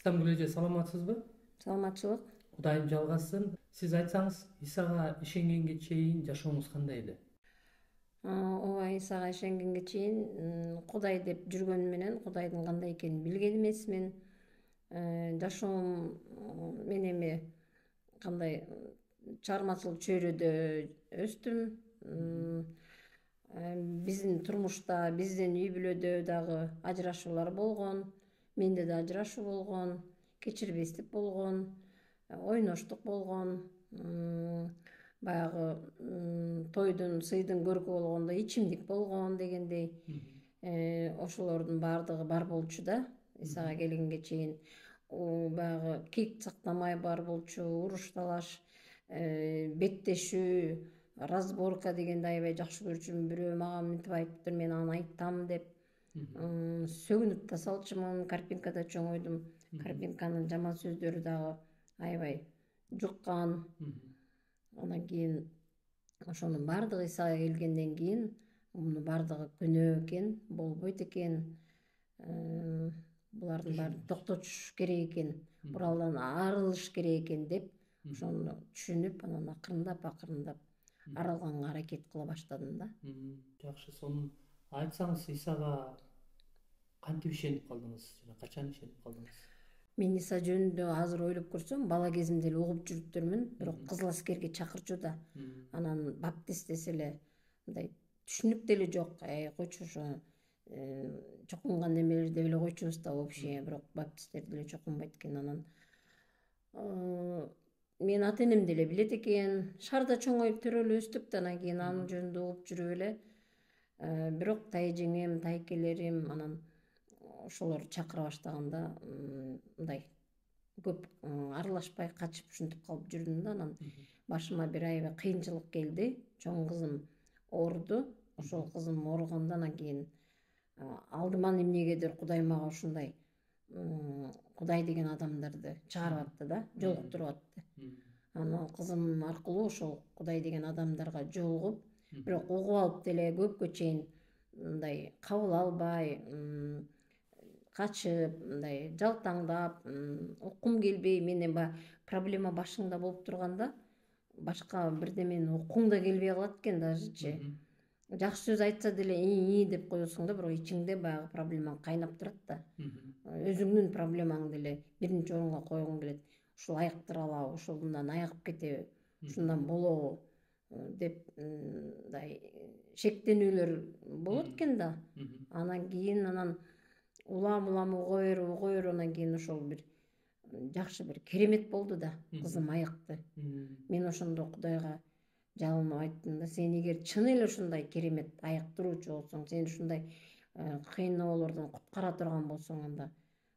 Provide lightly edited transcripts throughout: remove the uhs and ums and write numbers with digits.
Иштамгүл эже, саламатсызбы? Саламатчылык. Кудайым жалгасын. Сиз айтсаңыз, Исага ишенгенге чейин жашооңуз кандай эле? Ооба, Исага ишенгенге чейин Кудай деп жүргөнүм менен Кудайдын кандай экенин билген эмесмин. Жашоом мен эми кандай чыгармачылык чөйрөдө өстүм. Биздин турмушта, биздин үй бүлөдө дагы ажырашуулар болгон. Менде да ажырашуу болгон, кечирбестик болгон, ойноштук болгон. Баягы тойдун, сыйдын көркү болгондо ичимдик болгон дегендей. Ошолордун баардыгы бар болчу да. Исага келгенге чейин баягы кек сактамай бар болчу, уруш талаш, беттешүү, разборка дегенди аябай жакшы көрчүмүн. Бирөө мага мынтип айтыптыр, мен аны айтам деп. Сөгүнүп да салчумун, Карпинкада чоңойдум. Карпинканын жаман сөздөрү дагы аябай жуккан. Андан кийин ошонун баардыгы Исага келгенден кийин мунун баардыгы күнөө экен, болбойт экен. Булардын баарын токтотуш керек экен, буралдан арылыш керек экен деп ошону түшүнүп, анан акырындап арылганга аракет кыла баштадым да. Жакшы, сонун айтсаңыз, Исага кантип ишенип калдыңыз жана качан ишенип калдыңыз? Мен Иса жөнүндө азыр ойлоп көрсөм, бала кезимде эле угуп жүрүптүрмүн, бирок кызыл аскерге чакырчу да. Анан баптист десе эле мындай түшүнүк деле жок. Койчу ошо чокунган немелер деп эле койчубуз да вообще, бирок баптисттер деле чокунбайт экен. Анан мен ата энем деле билет экен, шаарда чоңоюп төрөлүп өстүк да, анан кийин анын жөнүндө угуп жүрүп эле. Бирок тайжеңем, тайкелерим анан ошолор чакыра баштаганда мындай көп аралашпай качып ушинтип калып жүрдүм да. Анан башыма бир аябай кыйынчылык келди. Чоң кызым ооруду. Ошол кызым ооруганда анан кийин алдыман эмнегедир Кудай мага ушундай Кудай деген адамдарды чыгарып атты да, жолуктуруп атты. Анан кызым аркылуу ошол Кудай деген адамдарга жолугуп, бирок угуп алып деле көпкө чейин мындай кабыл албай, качып, мындай жалтаңдап, уккум келбей, менен баягы проблема башыңда болуп турганда башка бирдемени уккуң да келбей калат экен дажычы. Жакшы сөз айтса деле ии деп коесуң да, бирок ичиңде баягы проблемаң кайнап турат да. Өзүңдүн проблемаңды эле биринчи орунга койгуң келет. Ушул айыктыра алабы, ушул мындан айыгып кетеби, ушундан болобу деп мындай шектенүүлөр болот экен да. Анан кийин улам уга берип анан кийин ошол бир жакшы бир керемет болду да. Кызым айыкты. Мен ошондо Кудайга жалынып айттым да, сен эгер чын эле ушундай керемет айыктыруучу болсоң, сен ушундай кыйноолордон куткара турган болсоң, анда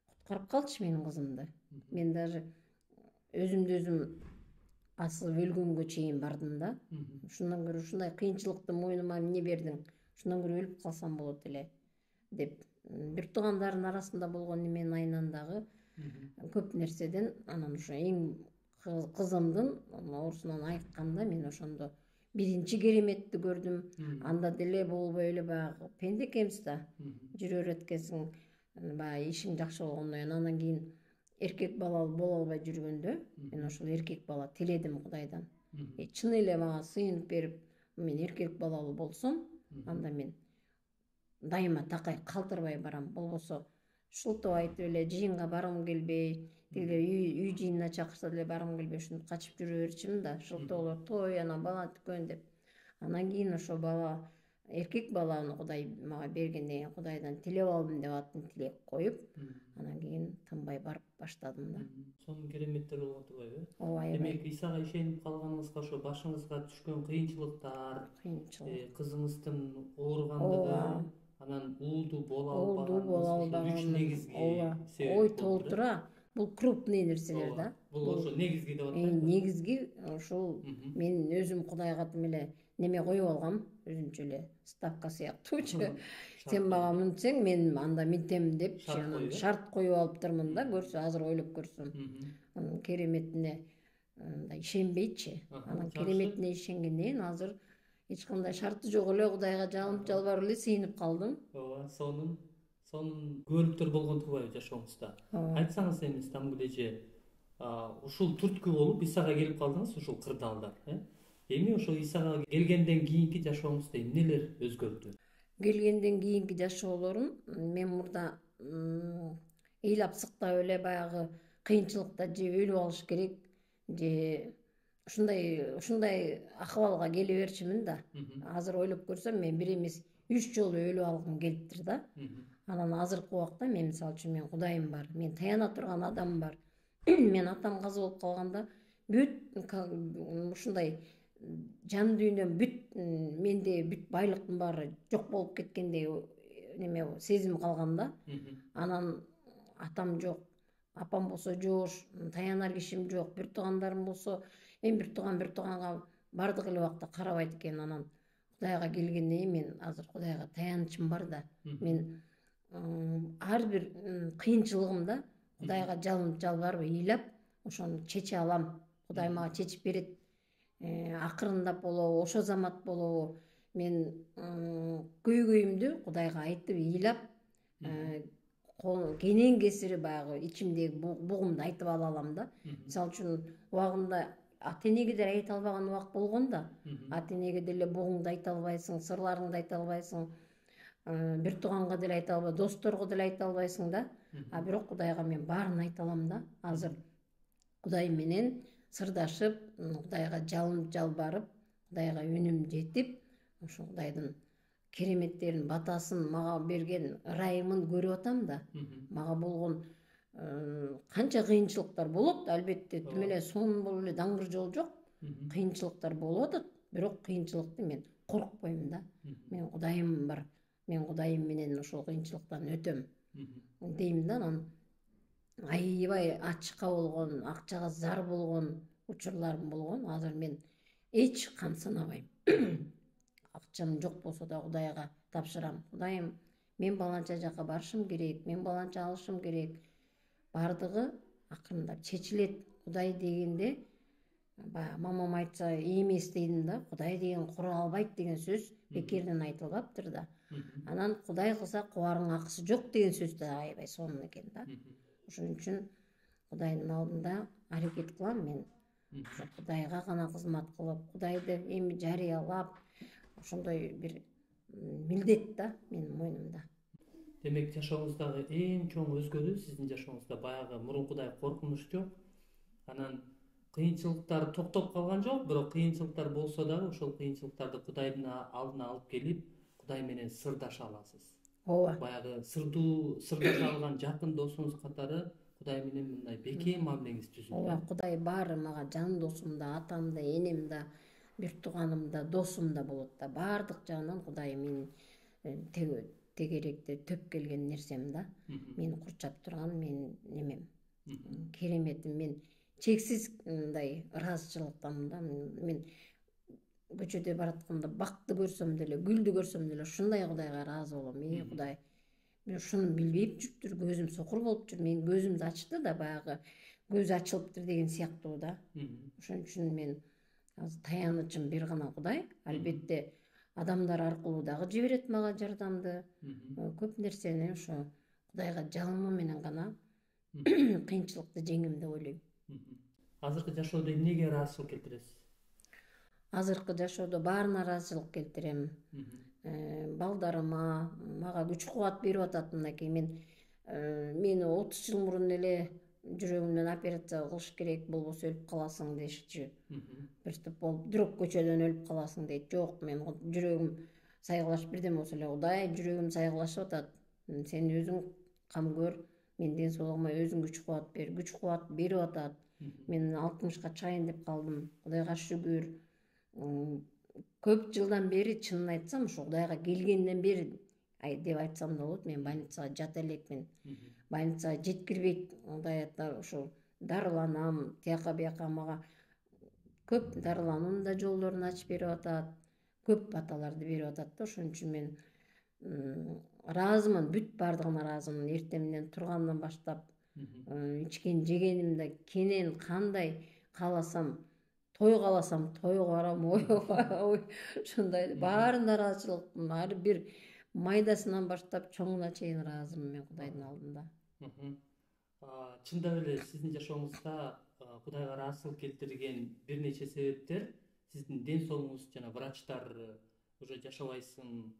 куткарып калчы менин кызымды. Мен даже өзүмдү өзүм асып өлгөнгө чейин бардым да. Ушундан көрө ушундай кыйынчылыкты мойнума эмне бердиң, ушундан көрө өлүп калсам болот эле деп. Бир туугандардын арасында болгон неменин айынан дагы көп нерседен анан ошо эң кызымдын оорусунан айыкканда мен ошондо биринчи кереметти көрдүм. Анда деле болбой эле баягы пенде экенбиз да, жүрө берет экенсиң, баягы ишиң жакшы болгондон кийин. Андан кийин эркек балалуу боло албай жүргөндө мен ошол эркек бала тиледим Кудайдан. Чын эле мага сыйынып берип, мен эркек балалуу болсом, анда мен дайыма такай калтырбай барам. Болбосо шылтоо айтып эле жыйынга баргым келбей, тиги үй жыйынына чакырса деле баргым келбей ушинтип качып жүрө берчүмүн да. Шылтоолор, той, анан бала түкөн деп. Анан кийин ошо бала, эркек баланы Кудай мага бергенден кийин Кудайдан тилеп алдым деп атын тилеп коюп, анан кийин тынбай барып баштадым да. Сонун кереметтер болгон турбайбы? Ооба, аябай. Демек, Исага ишенип калганыңызга ошо башыңызга түшкөн кыйынчылыктар, кызыңыздын ооругандыгы, анан уулдуу боло албаганыңыз, үч негизги себеп. Ой толтура, бул крупный нерселер да. Бул ошо негизги деп атпайбы? Негизги ушул мен өзүм Кудайга тим эле неме коюп алгам, өзүнчө эле ставка сыяктуучу. Сен мага мынтсең, мен анда минтем деп шарт коюп алыптырмын да. Көрсө, азыр ойлоп көрсөм, анын кереметине мындай ишенбейчи. Анан кереметине ишенгенден кийин азыр эч кандай шарты жок эле Кудайга жалынып жалбарып эле сыйынып калдым. Ооба, сонун. сонун күбөлүктөр болгон турбайбы жашооңузда? Айтсаңыз эми Стамбул эже, ушул түрткү болуп Исага келип калдыңыз, ушул кырдаалдар. Эми ошол Исага келгенден кийинки жашооңузда эмнелер өзгөрдү? Келгенден кийинки жашоолорум мен мурда ыйлап сыктап эле баягы кыйынчылыкта же өлүп алыш керек, же ушундай акыбалга келе берчүмүн да. Азыр ойлоп көрсөм мен бир эмес 3 жолу өлүп алгым келиптир да. Анан азыркы убакта мен мисалы үчүн мен Кудайым бар, мен таяна турган адам бар. Мен атам каза болуп калганда бүт ушундай жан дүйнөм бүт менде бүт байлыктын баары жок болуп кеткендей неме сезим калган да. Анан атам жок, апам болсо жоош, таянар кишим жок, бир туугандарым болсо эми бир тууганга бардык эле убакта карабайт экен. Анан Кудайга келгенден кийин мен азыр Кудайга таянычым бар да. Мен ар бир кыйынчылыгымда Кудайга жалбарып ыйлап ошону чече алам. Кудай мага чечип берет. Акырындап болобу, ошо замат болобу мен көйгөйүмдү Кудайга айтып ыйлап кенен кесири баягы ичимдеги бугумду айтып ала алам да. Мисалы үчүн убагында ата энеге деле айта албаган убак болгон да. Ата энеге деле бугуңду айта албайсың, сырларыңды айта албайсың, бир тууганга деле айта албайсың, досторго деле айта албайсың да. А бирок Кудайга мен баарын айта алам да. Азыр Кудай менен сырдашып, Кудайга жалбарып, Кудайга үнүм жетип, ошо Кудайдын кереметтерин, батасын, мага берген ырайымын көрүп атам да. Мага болгон канча кыйынчылыктар болот, албетте тим эле сонун болуп эле даңгыр жол жок. Кыйынчылыктар болуп атат, бирок кыйынчылыкты мен коркпойм да. Мен Кудайым бар. Мен Кудайым менен ошол кыйынчылыктан өтөм дейм да. Анан аябай ачка болгон, акчага зар болгон учурларым болгон. Азыр мен эч камсынабайм. Акчам жок болсо да Кудайга тапшырам. Кудайым, мен баланча жака барышым керек, мен баланча алышым керек. Бардыгы акырындап чечилет. Кудай дегенде баягы мамам айтса эмес дейдим да. Кудай деген кура албайт деген сөз бекерден айтылбаптыр да. Анан Кудай кылса кубарың акысы жок деген сөз да аябай сонун экен да. Ошон үчүн Кудайдын алдында аракет кылам мен. Ошо Кудайга гана кызмат кылып, Кудайды эми жарыялап, ошондой бир милдет да менин мойнумда. Демек жашооңуздагы эң чоң өзгөрүү сиздин жашооңузда баягы мурункудай коркунуч жок. Анан кыйынчылыктар токтоп калган жок, бирок кыйынчылыктар болсо дагы ошол кыйынчылыктарды Кудайдын алдына алып келип, Кудай менен сырдаша аласыз. Ооба. Баягы сырдаша алган жакын досуңуз катары Кудай менен мындай бекем мамилеңиз түзүлдү. Ооба, Кудай баары мага жан досум да, атам да, энем да, бир тууганым да, досум да болот да. Баардык жагынан Кудай менин тегеректе төп келген нерсем да. Мени курчап турган менин немем. Кереметим. Мен чексиз мындай ыраазычылыктамын да. Мен көчөдө баратканда бакты көрсөм деле, гүлдү көрсөм деле ушундай Кудайга ыраазы болом. Кудай, мен ушуну билбей жүрүптүр, көзүм сокур болуп жүр. Мен көзүмдү ачты да, баягы көзү ачылыптыр деген сыяктуу да. Ошон үчүн мен азыр таянычым бир гана Кудай. Албетте адамдар аркылуу дагы жиберет мага жардамды. Көп нерсени ошо Кудайга жалынуу менен гана кыйынчылыкты жеңем деп ойлойм. Азыркы жашоодо эмнеге ыраазычылык келтиресиз? Азыркы жашоодо баарына ыраазычылык келтирем. Балдарыма, мага күч кубат берип атат. Мынакей мени 30 жыл мурун эле жүрөгүмдөн операция кылыш керек, болбосо өлүп каласың дешчү. Приступ болуп, бирок көчөдөн өлүп каласың дейт. Жок, мен жүрөгүм сайгылашып бирден болсо эле Кудай, жүрөгүм сайгылашып атат. Сен өзүң кам көр, мен ден соолугума өзүң күч кубат бер. Күч кубат берип атат. Мен 60-ка чыгайын деп калдым. Кудайга шүгүр. Көп жылдан бери, чынын айтсам, ушу Кудайга келгенден бери деп айтсам да болот. Мен больницага жата элекмин. Больницага жеткирбейт. Кудайдар ушу дарыланам, тияка бияка мага көп дарылануунун да жолдорун ачып берип атат. Көп баталарды берип атат да. Ошон үчүн мен ыраазымын, бүт баардыгына ыраазымын. Эртемден тургандан баштап, ичкен жегенимде кенен кандай кааласам, той кааласам тойго барам, ошондой баарына ыраазычылыкмын. Ар бир майдасынан баштап чоңуна чейин ыраазымын мен Кудайдын алдында. Чындап эле сиздин жашооңузда Кудайга ыраазычылык келтирген бир нече себептер сиздин ден соолугуңуз жана врачтар уже жашабайсың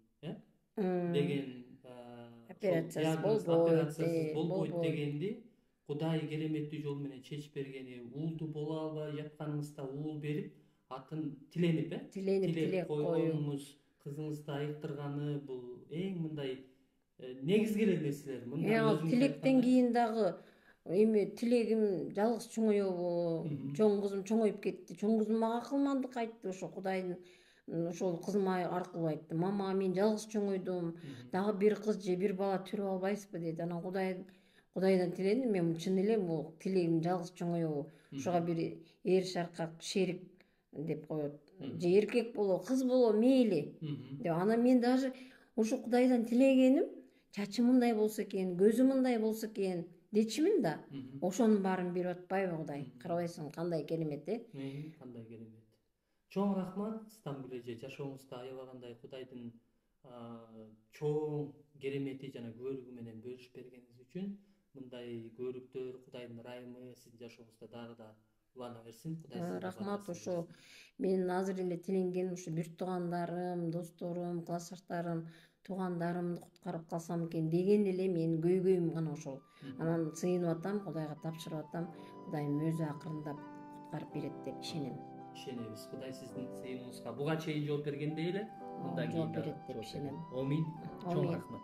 деген операциясыз болбойт дегенди Кудай кереметтүү жол менен чечип бергени, уулду боло албай жатканыңызда уулу берип, атын тиленип тилек койгонуңуз, кызыңызды айыктырганы бул эң мындай негизги эле нерселер. Ал тилектен кийин дагы эми тилегим жалгыз чоңоебу, чоң кызым чоңоюп кетти. Чоң кызым мага акылмандык айтты, ошо Кудайдын ошол кызыма аркылуу айтты. Мама, мен жалгыз чоңойдум, дагы бир кыз же бир бала төрөп албайсызбы деди. Анан Кудайдан тиледим, мен чын эле бул тилегим жалгыз чоңоебу. Ошого бир эр шаркак шерик деп коет. Же эркек боло, кыз боло мейли деп. Анан мен даже ошо Кудайдан тилегеним, чачым мындай болсо экен, көзүм мындай болсо экен дечимин да. Ошонун баарын берип атпайбы Кудай? Карабайсың кандай керемет, Кандай керемет. Чоң рахмат Стамбул эже, жашооңузда аябагандай Кудайдын чоң керемети жана көрүгү менен бөлүшүп бергениңиз үчүн. Мындай көрүктөр, Кудайдын ырайымы сиздин жашооңузда дагы да улана берсин. Кудай рахмат. Ошо менин азыр эле тиленген ушу бир туугандарым, досторум, классташтарым, туугандарымды куткарып калсам экен деген эле менин көйгөйүм гана ошол. Анан сыйынып атам, Кудайга тапшырып атам. Кудайым өзү акырындап куткарып берет деп ишенем. Ишенебиз. Кудай сиздин сыйыныңызга буга чейин жооп бергендей эле мындан кийин жооп берет деп ишенем. Амин. Чоң рахмат.